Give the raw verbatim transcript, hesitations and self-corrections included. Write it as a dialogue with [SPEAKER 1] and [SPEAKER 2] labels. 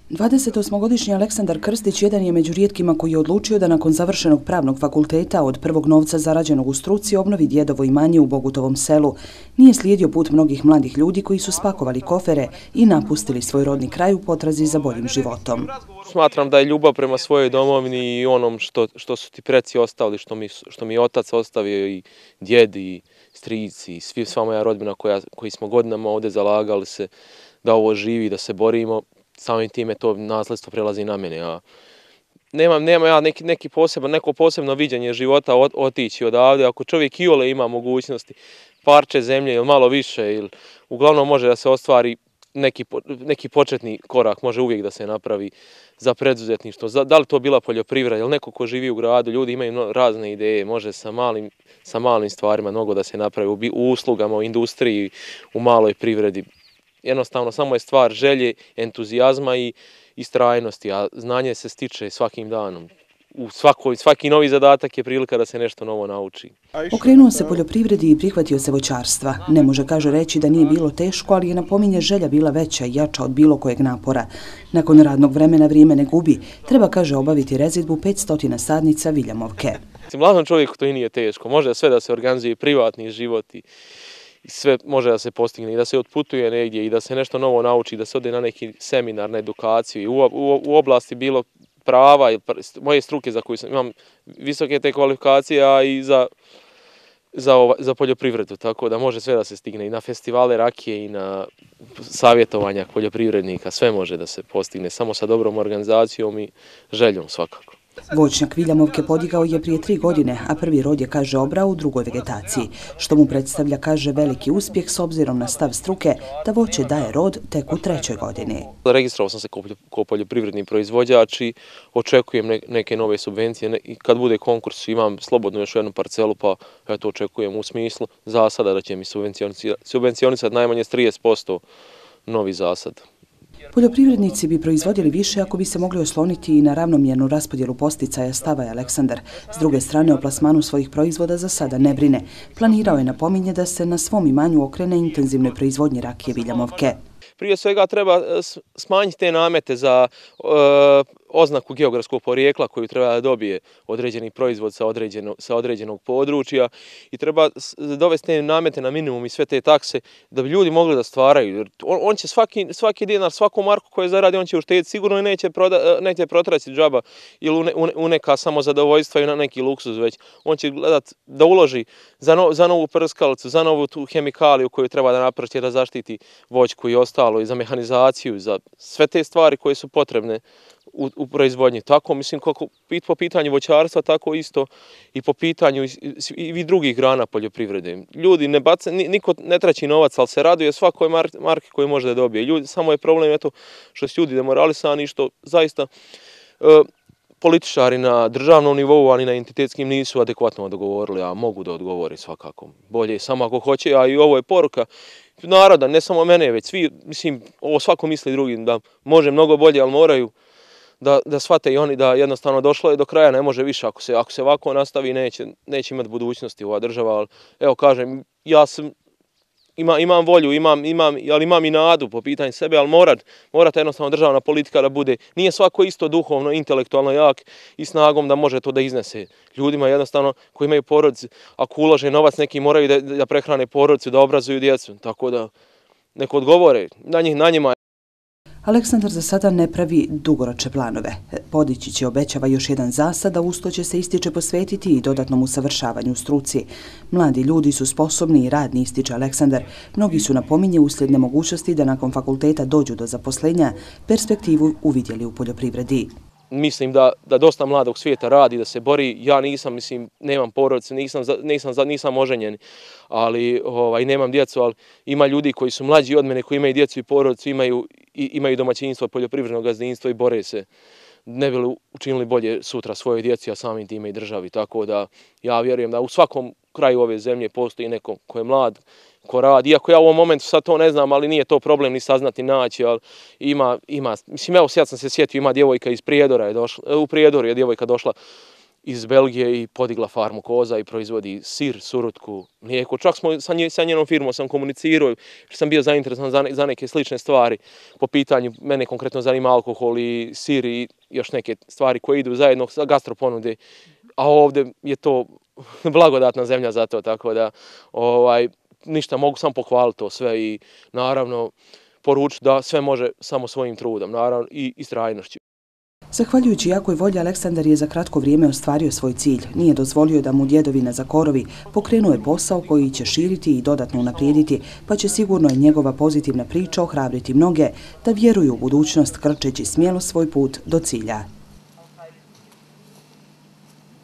[SPEAKER 1] dvadesetosmogodišnji Aleksandar Krstić jedan je među rijetkima koji je odlučio da nakon završenog pravnog fakulteta od prvog novca zarađenog u struci obnovi djedovo imanje u Bogutovom selu. Nije slijedio put mnogih mladih ljudi koji su spakovali kofere i napustili svoj rodni kraj u potrazi za boljim životom.
[SPEAKER 2] Smatram da je ljubav prema svojoj domovini i onom što, što su ti preci ostavili, što mi, što mi je otac ostavio i djed i strici i svi, sva moja rodbina koja, koji smo godinama ovdje zalagali se da ovo živi, da se borimo. Samim time to nasljedstvo prelazi na mene. Ja nemam, nemam ja neki, neki poseban, neko posebno viđenje života ot, otići odavde. Ako čovjek iole ima mogućnosti, parče zemlje ili malo više, ili uglavnom može da se ostvari neki, neki početni korak, može uvijek da se napravi za preduzetništvo. Da li to bila poljoprivreda ili neko ko živi u gradu, ljudi imaju razne ideje, može sa malim, sa malim stvarima mnogo da se napravi u uslugama, u industriji, u maloj privredi. Jednostavno, samo je stvar želje, entuzijazma i istrajnosti, a znanje se stiče svakim danom. U svakoj, svaki novi zadatak je prilika da se nešto novo nauči.
[SPEAKER 1] Okrenuo se poljoprivredi i prihvatio se voćarstva. Ne može, kaže, reći da nije bilo teško, ali je, napominje, želja bila veća i jača od bilo kojeg napora. Nakon radnog vremena vrijeme ne gubi. Treba, kaže, obaviti rezidbu petsto sadnica viljamovke.
[SPEAKER 2] Mladom čovjeku to i nije teško. Može sve da se organizuje, privatni život i I sve može da se postigne i da se otputuje negdje i da se nešto novo nauči, da se ode na neki seminar, na edukaciju i u, u, u oblasti bilo prava i moje struke za koju sam, imam visoke te kvalifikacije, a i za, za, ova, za poljoprivredu, tako da može sve da se stigne i na festivale rakije i na savjetovanja poljoprivrednika, sve može da se postigne samo sa dobrom organizacijom i željom svakako.
[SPEAKER 1] Voćnjak viljamovke podigao je prije tri godine, a prvi rod je, kaže, obrao u drugoj vegetaciji, što mu predstavlja, kaže, veliki uspjeh s obzirom na stav struke da voće daje rod tek u trećoj godini.
[SPEAKER 2] Registrovao sam se kao poljoprivredni proizvođač i očekujem neke nove subvencije. I kad bude konkurs imam slobodno još jednu parcelu, pa ja to očekujem u smislu zasada da će mi subvencionisati najmanje trideset posto novi zasad.
[SPEAKER 1] Poljoprivrednici bi proizvodili više ako bi se mogli osloniti i na ravnomjernu raspodjelu posticaja, stava je Aleksandar. S druge strane, o plasmanu svojih proizvoda za sada ne brine. Planirao je, napominje, da se na svom imanju okrene intenzivnoj proizvodnji rakije viljamovke.
[SPEAKER 2] Prije svega treba smanjiti te namete za e, oznaku geografskog porijekla koju treba da dobije određeni proizvod sa, određeno, sa određenog područja i treba dovesti te namete na minimum i sve te takse da bi ljudi mogli da stvaraju. On, on će svaki, svaki dinar, svaku marku koju zaradi, on će uštediti, sigurno i neće, proda, neće protraći džaba ili u, ne, u neka samozadovoljstva i na neki luksuz, već on će gledat da uloži za, no, za novu prskalicu, za novu tu hemikaliju koju treba da napravi da zaštiti voćku i ostalo, i za mehanizaciju, za sve te stvari koje su potrebne u, u proizvodnji. Tako, mislim, kako po pitanju voćarstva, tako isto i po pitanju i, i drugih grana poljoprivrede. Ljudi ne baca, niko ne traći novac, ali se raduje svakoj marki koju može da dobije. Ljudi, samo je problem eto što su ljudi demoralisani i što zaista e, političari na državnom nivou, ali na entitetskim nisu adekvatno dogovorili, a mogu da odgovori svakako. Bolje samo ako hoće, a i ovo je poruka naroda, ne samo mene, već svi, mislim, ovo svako misli drugim, da može mnogo bolje, ali moraju da, da shvate i oni da jednostavno došlo je do kraja, ne može više. Ako se, ako se ovako nastavi, neće, neće imati budućnosti ova država, ali evo kažem, ja sam, ima, imam volju, imam, imam, ali imam i nadu po pitanju sebe, ali morat, morate jednostavno državna politika da bude, nije svako isto duhovno, intelektualno jak i snagom da može to da iznese. Ljudima jednostavno koji imaju porodice, ako ulože novac, neki moraju da, da prehrane porodicu, da obrazuju djecu, tako da neko odgovore na njih, na njima.
[SPEAKER 1] Aleksandar za sada ne pravi dugoročne planove. Podići će, obećava, još jedan zasad, a usto će se, ističe, posvetiti i dodatnom usavršavanju u struci. Mladi ljudi su sposobni i radni, ističe Aleksandar. Mnogi su, napominje, uslijed nemogućnosti da nakon fakulteta dođu do zaposlenja, perspektivu uvidjeli u poljoprivredi.
[SPEAKER 2] Mislim da, da dosta mladog svijeta radi, da se bori. Ja nisam, mislim, nemam porodice, nisam, nisam, nisam oženjen, ali ovaj, nemam djecu, ali ima ljudi koji su mlađi od mene, koji imaju djecu i porodicu, imaju, i, imaju domaćinstvo, poljoprivredno gazdinstvo i bore se. Ne bi li učinili bolje sutra svojoj djeci, a samim time i državi. Tako da ja vjerujem da u svakom kraju ove zemlje postoji neko ko je mlad, ko radi. Iako ja u ovom momentu sad to ne znam, ali nije to problem ni saznati, naći, ali ima, ima, mislim, evo sad sam se sjetio, ima djevojka iz Prijedora, je došla, u Prijedoru je djevojka došla iz Belgije i podigla farmu koza i proizvodi sir, surutku, mlijeko. Čak smo sa, nje, sa njenom firmom sam komunicirao, jer sam bio zainteresovan za, ne, za neke slične stvari po pitanju, mene konkretno zanima alkohol i sir i još neke stvari koje idu zajedno sa gastroponude, a ovdje je to blagodatna zemlja za to, tako da ovaj, ništa, mogu samo pohvaliti to sve i naravno poručiti da sve može samo svojim trudom, naravno i istrajnošću.
[SPEAKER 1] Zahvaljujući jakoj volji, Aleksandar je za kratko vrijeme ostvario svoj cilj. Nije dozvolio da mu djedovina zakorovi, pokrenuo je posao koji će širiti i dodatno unaprijediti, pa će sigurno i njegova pozitivna priča ohrabriti mnoge da vjeruju u budućnost krčeći smjelo svoj put do cilja.